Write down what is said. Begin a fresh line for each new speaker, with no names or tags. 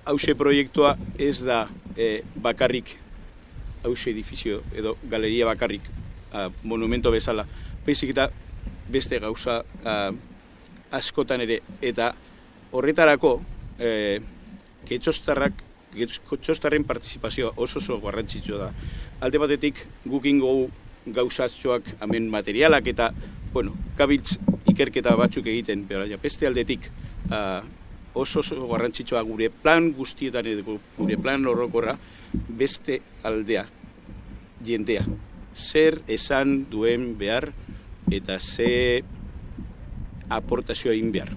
hause proiektua ez da bakarrik hause edifizio edo galeria bakarrik monumento bezala, baizik eta beste gauza askotan ere, eta horretarako getxostarren partizipazioa oso garrantzitsua da. Alde batetik gukingo gauzatxoak hemen materialak eta, gabiltz ikerketa batzuk egiten, beste aldetik oso garrantzitsua gure plan guztietan edo gure plan orokorra beste aldea, jendea. Zer esan duen behar eta ze aportazioa egin behar.